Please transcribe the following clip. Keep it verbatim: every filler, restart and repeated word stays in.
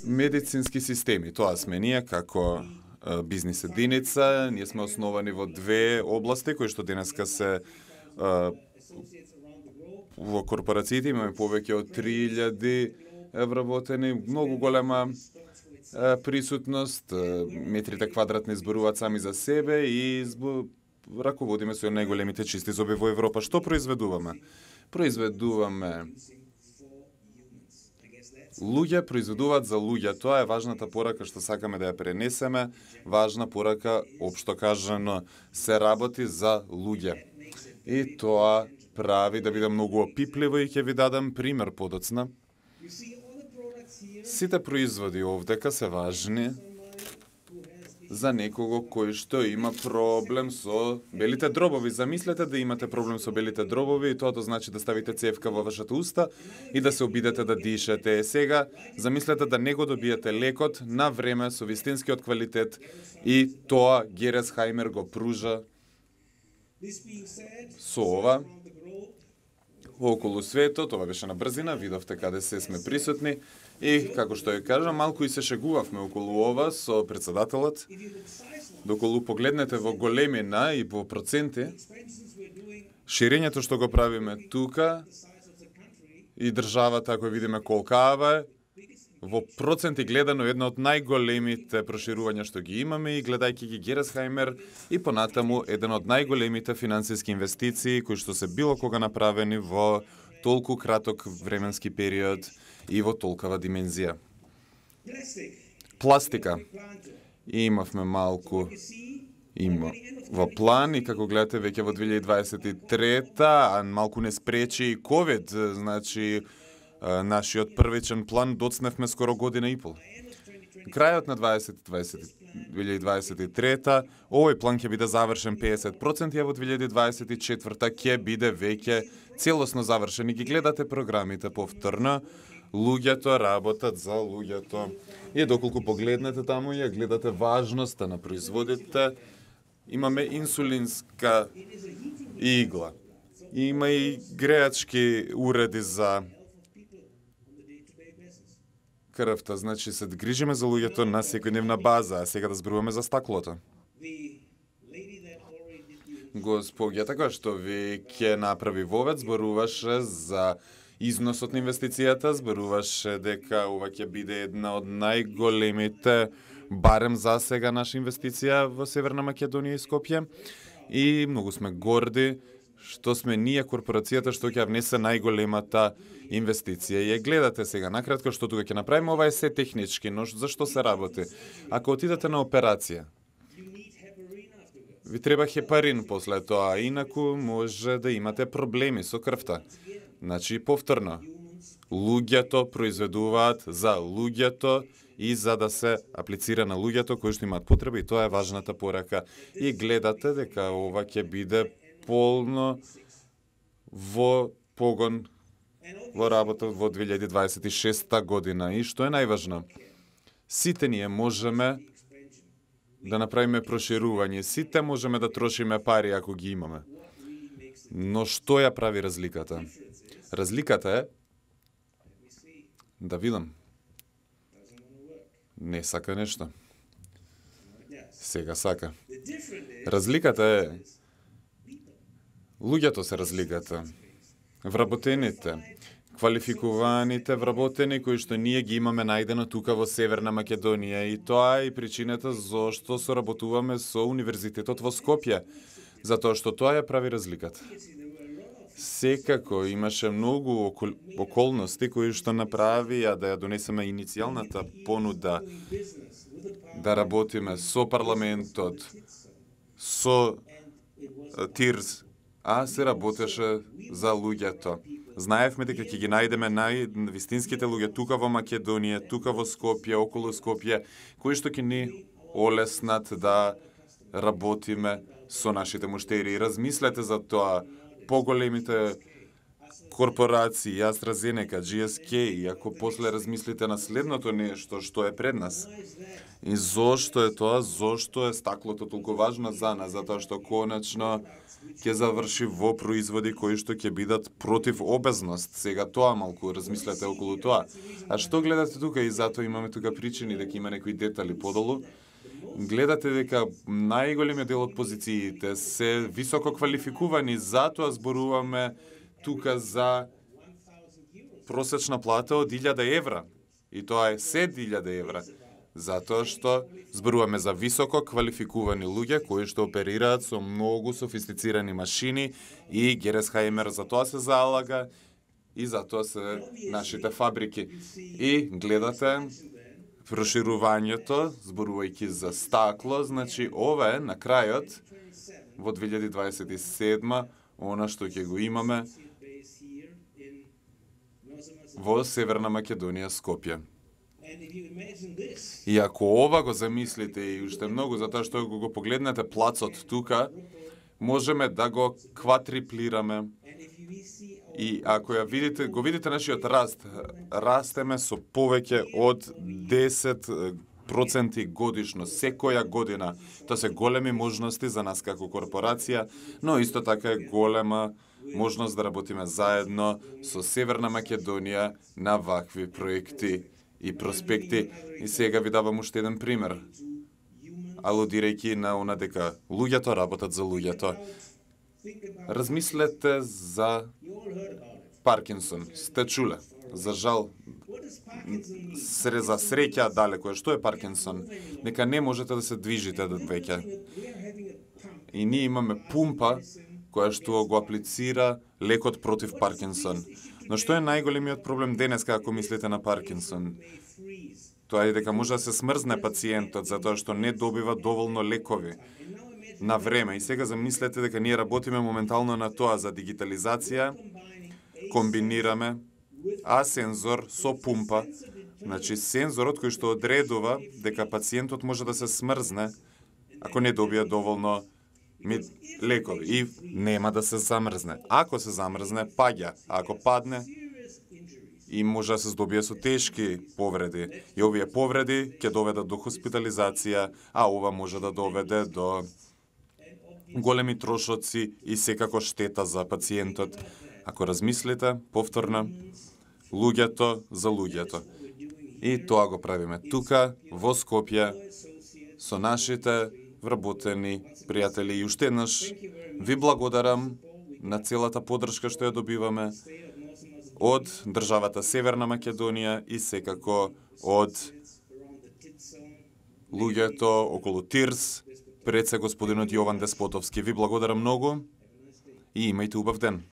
Медицински системи, тоа сме ние како е, бизнис единица, ние сме основани во две области кои што денеска се е, во корпорациите имаме повеќе од три илјади вработени, многу голема е, присутност, е, метрите квадратни зборуваат сами за себе и збо, раководиме со најголемите чисти зоби во Европа. Што произведуваме? Произведуваме луѓе, произведуваат за луѓе. Тоа е важната порака што сакаме да ја пренесеме. Важна порака, општо кажано, се работи за луѓе. И тоа прави да биде многу опипливо и ќе ви дадам пример подоцна. Сите производи овдека се важни за некого кој што има проблем со белите дробови. Замислете да имате проблем со белите дробови и тоа значи да ставите цевка во вашата уста и да се обидете да дишете. Е, сега, замислете да не го добиете лекот на време со вистинскиот квалитет и тоа Гересхаймер го пружа со ова. Околу светот, ова беше на брзина, видовте каде се сме присутни и, како што ја кажам, малку и се шегувавме околу ова со председателот. Доколу погледнете во големина и во проценти, ширењето што го правиме тука и државата, ако видиме колкава е, во проценти гледано една од најголемите проширувања што ги имаме и гледајќи ги Гересхаймер и понатаму еден од најголемите финансиски инвестиции кои што се било кога направени во толку краток временски период и во толкава димензија. Пластика. Имавме малку има во план и како гледате веќе во две илјади дваесет и трета, а малку не спречи и ковид, значи нашиот првичен план доцневме скоро година и пол. Крајот на две илјади дваесет и трета, овој план ќе биде завршен педесет проценти, а во две илјади дваесет и четврта ќе биде веќе целосно завршен. И ги гледате програмите повторно, луѓето работат за луѓето. И доколку погледнете таму ја гледате важноста на производите, имаме инсулинска игла. Има и греачки уреди за крвта, значи се грижиме за луѓето на секојдневна база, а сега да зборуваме за стаклото. Госпоѓата која што веќе направи вовед зборуваше за износот на инвестицијата, зборуваше дека ова ќе биде една од најголемите, барем за сега, наша инвестиција во Северна Македонија и Скопје. И многу сме горди што сме ние корпорацијата што ќе внесе најголемата инвестиција. И ја гледате сега накратко што тука ќе направиме, ова е се технички, но зашто се работи? Ако отидете на операција, ви треба хепарин после тоа, инаку може да имате проблеми со крвта. Значи, повторно, луѓето произведуваат за луѓето и за да се аплицира на луѓето кои што имаат потреба, и тоа е важната порака. И гледате дека ова ќе биде полно во погон во работа во две илјади дваесет и шеста година. И што е најважно? Сите ние можеме да направиме проширување, сите можеме да трошиме пари ако ги имаме. Но што ја прави разликата? Разликата е да видам. Не сака нешто. Сега сака. Разликата е луѓето се разликата. Вработените, квалификуваните вработени кои што ние ги имаме најдено тука во Северна Македонија, и тоа е и причината зошто соработуваме со Универзитетот во Скопје, затоа што тоа ја прави разликата. Секако имаше многу окол... околности кои што направија да ја донесеме иницијалната понуда да работиме со парламентот, со ТИРС, а се работеше за луѓето. Знаевме дека ќе ги најдеме највистинските луѓе тука во Македонија, тука во Скопје, околу Скопје, кои што ќе ни олеснат да работиме со нашите муштери. И размислете за тоа, поголемите корпорации, AstraZeneca, G S K, и ако после размислите на следното нешто што е пред нас, и зошто е тоа, зошто е стаклото толку важно за нас, затоа што конечно ќе заврши во производи кои што ќе бидат против обезност. Сега тоа малку размислете околу тоа. А што гледате тука, и затоа имаме тука причини дека има некои детали подолу. Гледате дека најголемиот дел од позициите се високо квалификувани, затоа зборуваме тука за просечна плата од илјада евра. И тоа е седум илјади евра. Затоа што зборуваме за високо квалификувани луѓе кои што оперираат со многу софистицирани машини, и Гересхаймер за тоа се залага и за тоа се нашите фабрики. И гледате проширувањето, зборувајќи за стакло, значи ова е на крајот во две илјади дваесет и седма, она што ќе го имаме во Северна Македонија, Скопје. И ако ова го замислите и уште многу, затоа што го погледнете плацот тука, можеме да го кватриплираме. И ако ја видите, го видите нашиот раст, растеме со повеќе од десет проценти годишно, секоја година. Тоа се големи можности за нас како корпорација, но исто така е голема можност да работиме заедно со Северна Македонија на вакви проекти и проспекти. И сега ви давам уште еден пример, алудирајќи на она дека луѓето работат за луѓето. Размислете за Паркинсон. Сте чуле? За жал, сре за среќа далеко е. Што е Паркинсон? Нека не можете да се движите веќе. И ние имаме пумпа која што го аплицира лекот против Паркинсон. Но што е најголемиот проблем денес како мислите на Паркинсон? Тоа е дека може да се смрзне пациентот затоа што не добива доволно лекови на време. И сега замислете дека ние работиме моментално на тоа, за дигитализација, комбинираме а сензор со пумпа, значи сензорот кој што одредува дека пациентот може да се смрзне ако не добие доволно лекови и нема да се замрзне. Ако се замрзне, паѓа, а ако падне, и може да се здобие со тешки повреди. И овие повреди ќе доведат до хоспитализација, а ова може да доведе до големи трошоци и секако штета за пациентот. Ако размислите, повторно, луѓето за луѓето. И тоа го правиме тука, во Скопје, со нашите вработени пријатели. И уште еднаш ви благодарам на целата подршка што ја добиваме од државата Северна Македонија и секако од луѓето околу Тирс, пред се господинот Јован Деспотовски. Ви благодарам многу и имајте убав ден.